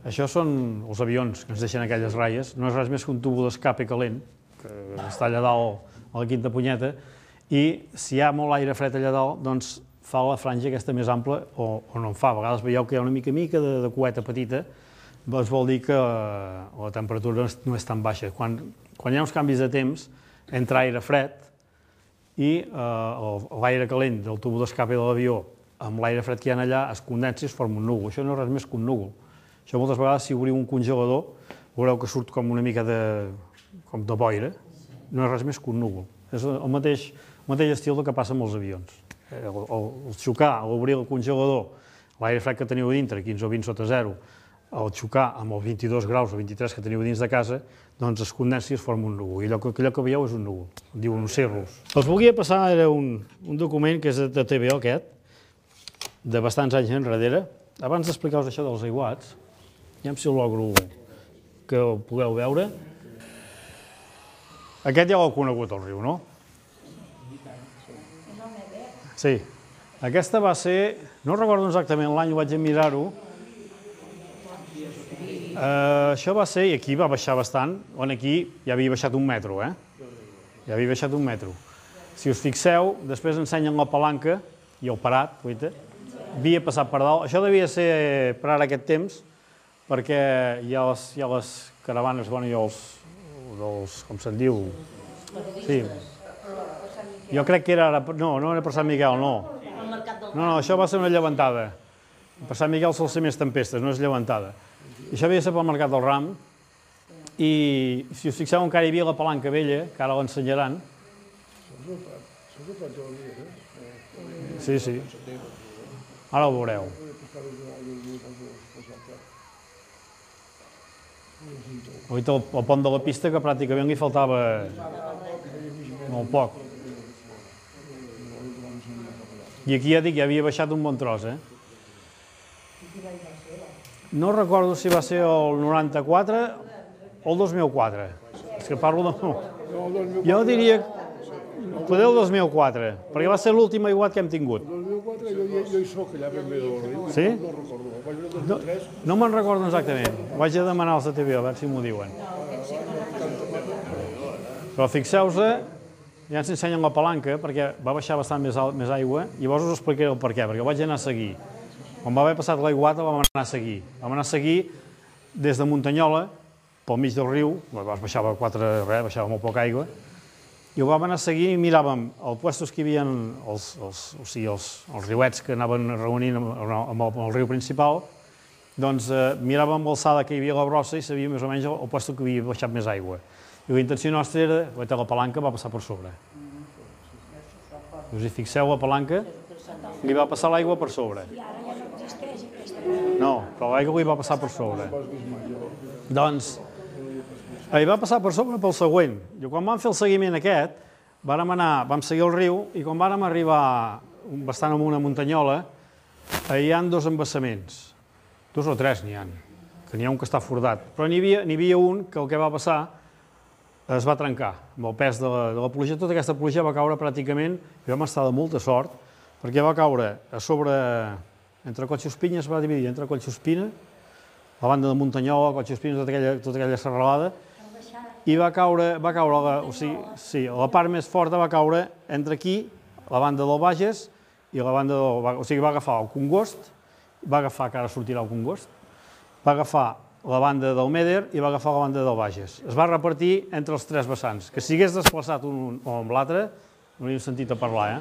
això són els avions que ens deixen aquelles ratlles, no és res més que un tubo d'escape calent, que està allà dalt a la quinta punyeta, i si hi ha molt aire fred allà dalt, doncs fa la franja aquesta més ampla o, o no en fa. A vegades veieu que hi ha una mica mica de, de cueta petita, doncs vol dir que la, la temperatura no és, no és tan baixa. Quan, quan hi ha uns canvis de temps, entra aire fred i eh, l'aire calent del tubo d'escape de l'avió amb l'aire fred que hi ha allà es condensa i es forma un núvol. Això no és res més que un núvol. Això moltes vegades, si obriu un congelador, veureu que surt com una mica de, com de boira. No és res més que un núvol. És el mateix, el mateix estil del que passa amb els avions. El, el, el xocar, l'obrir el congelador, l'aire fred que teniu a dintre, quinze o vint sota zero, el xocar amb els vint-i-dos graus o vint-i-tres que teniu dins de casa, doncs es condensa i es forma un núvol. I allò que, allò que veieu és un núvol, diuen un círrus. Els volia passar, era un, un document que és de T V O aquest, de bastants anys enrere. Abans d'explicar-vos això dels aiguats, ja si el logro que ho pugueu veure. Aquest ja l'heu conegut, el riu, no? Sí. Aquesta va ser, no recordo exactament l'any, ho vaig a mirar-ho. Uh, això va ser, i aquí va baixar bastant, on aquí ja havia baixat un metro, eh? Ja havia baixat un metro. Si us fixeu, després ensenyen la palanca i el parat, guaita, havia passat per dalt. Això devia ser per ara aquest temps, perquè hi ha les, hi ha les caravanes, bueno, hi ha els, els com se'n diu, sí. Jo crec que era ara, no, no era per Sant Miquel, no. No, no, això va ser una llevantada. Per Sant Miquel sol ser més tempestes, no és llevantada. I això havia de ser pel Mercat del Ram, i si us fixeu encara hi havia la palanca vella, que ara l'ensenyaran. Sí, sí. Ara ho veureu. Oita, el pont de la pista, que pràcticament li faltava molt poc. I aquí ja dic, ja havia baixat un bon tros, eh? No recordo si va ser el noranta-quatre o el dos mil quatre. És que parlo de... Jo diria... Poder el dos mil quatre, perquè va ser l'últim aiguat que hem tingut. El dos mil quatre jo hi soc allà ben bé del riu. Sí? No recordo. No me'n recordo exactament. Ho vaig a demanar als de T V O, a veure si m'ho diuen. Però fixeu-se, ja ens ensenyen la palanca, perquè va baixar bastant més, més aigua, i llavors us explicaré el per què, perquè vaig anar a seguir. Quan va haver passat l'aiguata vam anar a seguir. Vam anar a seguir des de Muntanyola, pel mig del riu, baixava quatre, res, baixava molt poca aigua, i ho vam anar a seguir i miràvem els puestos que hi havia, els, els, o sigui, els, els riuets que anaven reunint amb, amb, el, amb el riu principal, doncs eh, miràvem l'alçada que hi havia a la brossa i sabíem més o menys el, el puesto que havia baixat més aigua. I la intenció nostra era, la palanca va passar per sobre. Us hi fixeu, la palanca li va passar l'aigua per sobre. I ara ja no existeix aquesta. No, però l'aigua li va passar per sobre. Doncs, li va passar per sobre pel següent. I quan vam fer el seguiment aquest, vam anar, vam seguir el riu, i quan vam arribar bastant amunt a Muntanyola, hi ha dos embassaments. Dos o tres n'hi ha, que n'hi ha un que està fordat. Però n'hi havia, n'hi havia un que el que va passar es va trencar amb el pes de la, de la pluja. Tota aquesta pluja va caure pràcticament, i vam estar de molta sort, perquè va caure a sobre, entre Collsospina, es va dividir entre Collsospina, la banda de Muntanyola, Collsospina, tota aquella, tota aquella serralada, i va caure, va caure la, o sigui, sí, la part més forta va caure entre aquí, la banda del Bages, i la banda del... O sigui, va agafar el Congost, va agafar, que ara sortirà el Congost, va agafar la banda del Meder i va agafar la banda del Bages. Es va repartir entre els tres vessants, que si hagués desplaçat un o amb l'altre, no hauríem sentit a parlar, eh?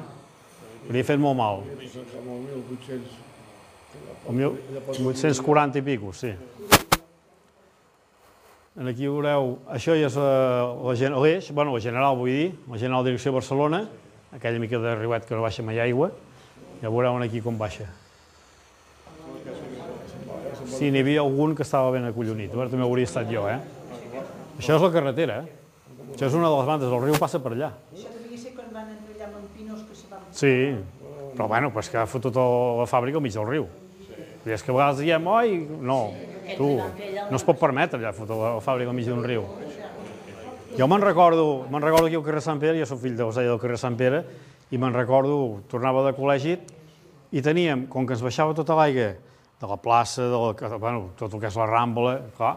Hauria fet molt mal. El mil vuit-cents quaranta i pico, sí. Aquí veureu, això ja és l'eix, bueno, la general vull dir, la general direcció a Barcelona, aquella mica de riuet que no baixa mai aigua, ja veureu aquí com baixa. Sí, n'hi havia algun que estava ben acollonit, també hauria estat jo, eh? Això és la carretera, eh? Això és una de les bandes, el riu passa per allà. Això devia ser quan van entrellar amb pinos que se van... Sí, però bueno, és que ha fotut la fàbrica al mig del riu. I és que a vegades diem, oi, no, Tu, no es pot permetre allà fotre la fàbrica al mig d'un riu. Jo me'n recordo, me'n recordo aquí al carrer Sant Pere, jo soc fill d'Eusèbia del carrer Sant Pere, i me'n recordo, tornava de col·legi i teníem, com que ens baixava tota l'aigua de la plaça, de la, bueno, tot el que és la Rambla, clar,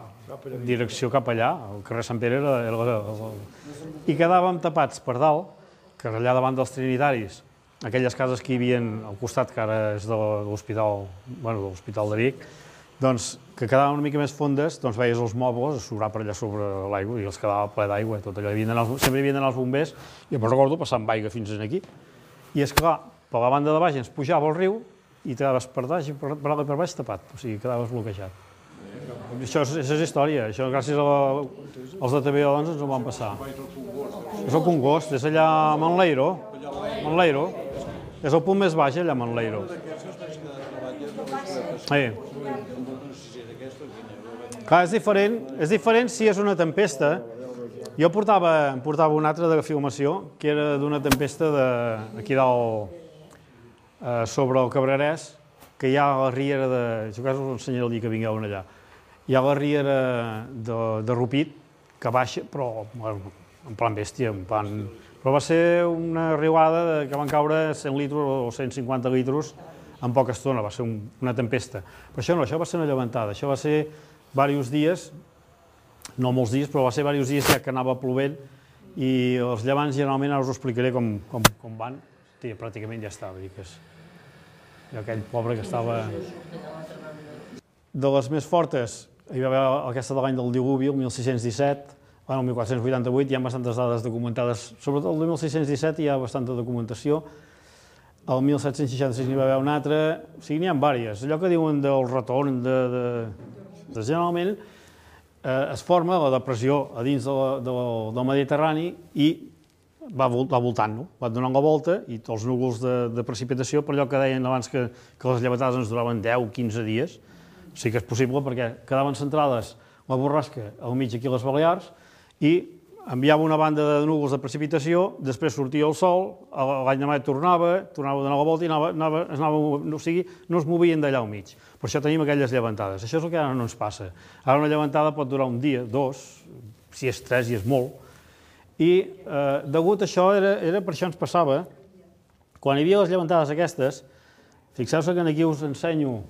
direcció cap allà, el carrer Sant Pere era... era, era i quedàvem tapats per dalt, que allà davant dels Trinitaris, aquelles cases que hi havia al costat, que ara és de l'Hospital, bueno, de l'Hospital de Vic, doncs, que quedaven una mica més fondes, doncs veies els mobles a sobrar per allà sobre l'aigua i els quedava ple d'aigua, tot allò. Sempre hi havien d'anar els bombers, i em recordo passar amb aigua fins aquí. I és clar, per la banda de baix ens pujava el riu i quedaves per baix i per dalt i per baix tapat, o sigui, quedaves bloquejat. Això és, això és història, això gràcies a la, als de T V O doncs ens ho van passar. És el Congost, és allà a Manleiro, Manleiro, és el punt més baix allà a Manleiro. Sí. Clar, és diferent, és diferent si és una tempesta. Jo portava, em portava una altra de filmació, que era d'una tempesta de, aquí dalt, eh, sobre el Cabrerès, que hi ha a la riera de... Jo quasi us ensenyaré el dia que vingueu allà. Hi ha la riera de, de Rupit, que baixa, però bueno, en plan bèstia, en plan... Però va ser una riuada que van caure cent litres o cent cinquanta litres en poca estona, va ser un, una tempesta. Però això no, això va ser una llevantada, això va ser diversos dies, no molts dies, però va ser diversos dies ja que anava plovent i els llevants generalment, ara us ho explicaré com, com, com van, sí, pràcticament ja estava, dic, és... I aquell pobre que estava... De les més fortes, hi va haver aquesta de l'any del diluvi, el mil sis-cents disset, bueno, el mil quatre-cents vuitanta-vuit, hi ha bastantes dades documentades, sobretot el mil sis-cents disset hi ha bastanta documentació, el mil set-cents seixanta-sis n'hi va haver una altra, o sigui, n'hi ha diverses. Allò que diuen del retorn, de, de, de generalment eh, es forma la depressió a dins de la, de la, del Mediterrani i va, va voltant, no? Va donant la volta i els núvols de, de precipitació, per allò que deien abans que, que les llevatades ens duraven deu o quinze dies, sí que és possible perquè quedaven centrades la borrasca al mig aquí a les Balears i enviava una banda de núvols de precipitació, després sortia el sol, l'any demà tornava, tornava a donar la volta i anava, anava, anava, o sigui, no es movien d'allà al mig. Per això tenim aquelles llevantades. Això és el que ara no ens passa. Ara una llevantada pot durar un dia, dos, si és tres i és molt. I eh, degut a això, era, era per això ens passava, quan hi havia les llevantades aquestes, fixeu-se que aquí us ensenyo,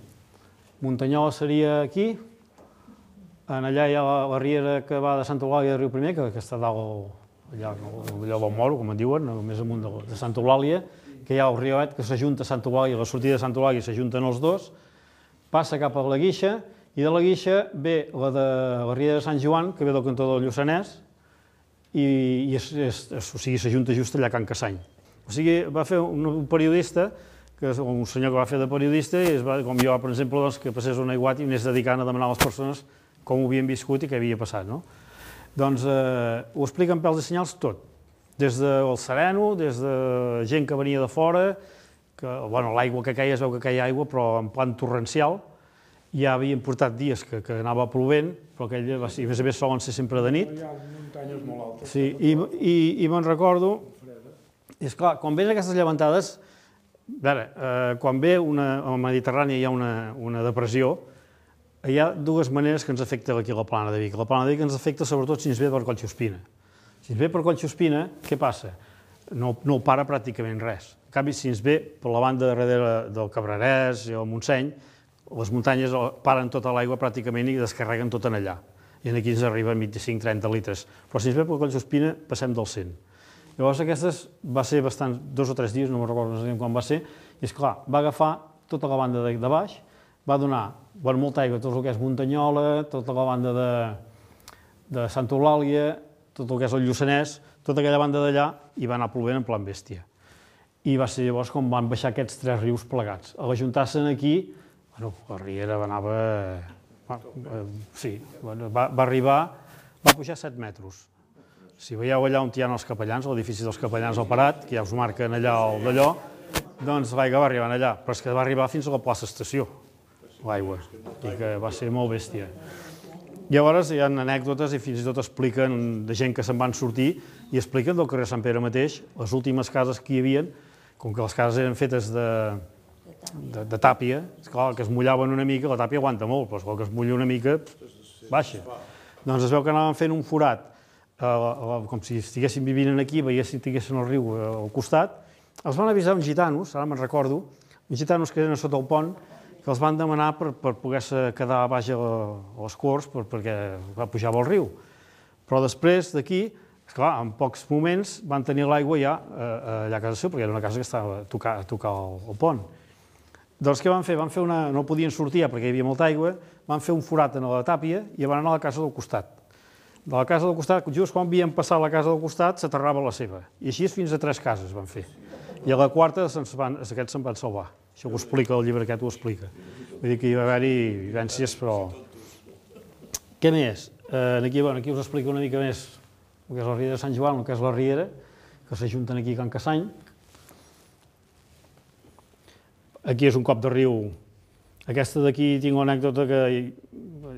Muntanyola seria aquí, en allà hi ha la, la riera que va de Santa Eulàlia de Riu Primer, que, que està dalt, allà, allà del Moro, com en diuen, més amunt de, de Santa Eulàlia, que hi ha el riuet que s'ajunta a Santa Eulàlia, la sortida de Santa Eulàlia s'ajunten els dos, passa cap a la Guixa, i de la Guixa ve la de la riera de Sant Joan, que ve del cantó del Lluçanès, i, i és, és, és, o sigui, s'ajunta just allà a Can Cassany. O sigui, va fer un, un periodista, que és un senyor que va fer de periodista, i es va, com jo, per exemple, doncs, que passés un aiguat i anés dedicant a demanar a les persones com ho havien viscut i què havia passat, no? Doncs eh, ho explica en pèls i senyals tot, des del sereno, des de gent que venia de fora, que, bueno, l'aigua que queia, es veu que queia aigua, però en plan torrencial, ja havien portat dies que, que anava plovent, però aquell, a més a més solen ser sempre de nit. Hi ha muntanyes molt altes. Sí, i, i, i me'n recordo, és clar, quan ven aquestes llevantades, a veure, eh, quan ve una, a la Mediterrània hi ha una, una depressió, hi ha dues maneres que ens afecta aquí la plana de Vic. La plana de Vic ens afecta sobretot si ens ve per Collsuspina. Si ens ve per Collsuspina, què passa? No, no ho para pràcticament res. En canvi, si ens ve per la banda de darrere del Cabrerès i el Montseny, les muntanyes paren tota l'aigua pràcticament i descarreguen tot en allà. I aquí ens arriben vint-i-cinc trenta litres. Però si ens ve per Collsuspina, passem del cent. Llavors, aquestes va ser bastant, dos o tres dies, no me'n recordo quan va ser, i esclar, va agafar tota la banda de, de baix, va donar bueno, molta aigua, tot el que és Muntanyola, tota la banda de, de Santa Eulàlia, tot el que és el Lluçanès, tota aquella banda d'allà, i va anar plovent en plan bèstia. I va ser llavors com van baixar aquests tres rius plegats. A l'ajuntar-se'n aquí, bueno, la riera anava... Eh, sí, bueno, va, va arribar, va pujar set metres. Si veieu allà on hi ha els capellans, l'edifici dels capellans al Parat, que ja us marquen allà el d'allò, doncs l'aigua va arribar allà, però és que va arribar fins a la plaça Estació, l'aigua, i que va ser molt bèstia. Llavors hi ha anècdotes i fins i tot expliquen de gent que se'n van sortir i expliquen del carrer Sant Pere mateix, les últimes cases que hi havia, com que les cases eren fetes de, de, de tàpia, esclar, que es mullaven una mica, la tàpia aguanta molt, però esclar, que es mulla una mica, baixa. Doncs es veu que anaven fent un forat, eh, com si estiguessin vivint aquí, veiessin, tinguessin el riu al costat. Els van avisar uns gitanos, ara me'n recordo, uns gitanos que eren a sota el pont, que els van demanar per, per poder-se quedar baix a, a les corts per, perquè pujava el riu. Però després d'aquí, esclar, en pocs moments van tenir l'aigua ja eh, allà a casa seu, perquè era una casa que estava a tocar, a tocar el, el pont. Doncs què van fer? Van fer una... No podien sortir perquè hi havia molta aigua, van fer un forat en la tàpia i van anar a la casa del costat. De la casa del costat, just quan havien passat la casa del costat, s'aterrava la seva. I així fins a tres cases van fer. I a la quarta van, aquests se'n van salvar. Això ho explica, el llibre aquest ho explica. Vull dir que hi va haver-hi vivències, però... Què més? Eh, aquí, bueno, aquí us explico una mica més el que és la Riera de Sant Joan, el que és la Riera, que s'ajunten aquí a Can Cassany. Aquí és un cop de riu. Aquesta d'aquí tinc una anècdota que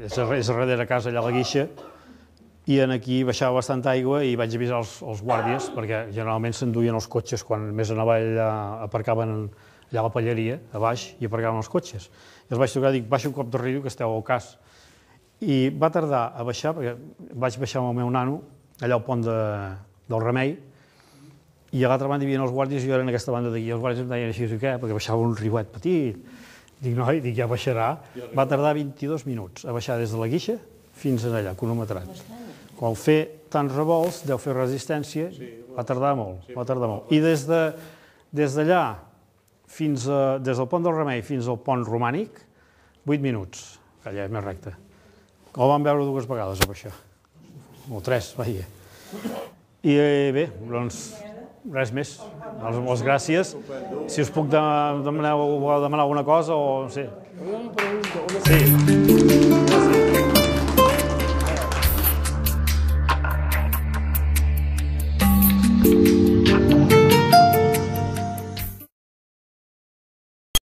és a darrere casa, allà a la Guixa, i aquí baixava bastanta aigua i vaig avisar els, els guàrdies, perquè generalment s'enduien els cotxes quan més anava allà, aparcaven allà a la Palleria, a baix, i aparcaven els cotxes. I els vaig trucar i dic, baixa un cop de riu, que esteu al cas. I va tardar a baixar, perquè vaig baixar amb el meu nano, allà al pont de, del Remei, i a l'altra banda hi havia els guàrdies i jo era en aquesta banda d'aquí. Els guàrdies em deien així, què? Perquè baixava un riuet petit. Dic, noi, dic, ja baixarà. Va tardar vint-i-dos minuts a baixar des de la Guixa fins allà, cronometrat. Quan fer tants revolts, deu fer resistència, va tardar molt, va tardar molt. I des de, des d'allà, fins a, des del pont del Remei fins al pont romànic, vuit minuts, que allà és més recte. El vam veure dues vegades a baixar, o tres, vaja. I bé, doncs, res més. Moltes gràcies. Si us puc demanar, demanar alguna cosa o no sé. Una pregunta. Sí.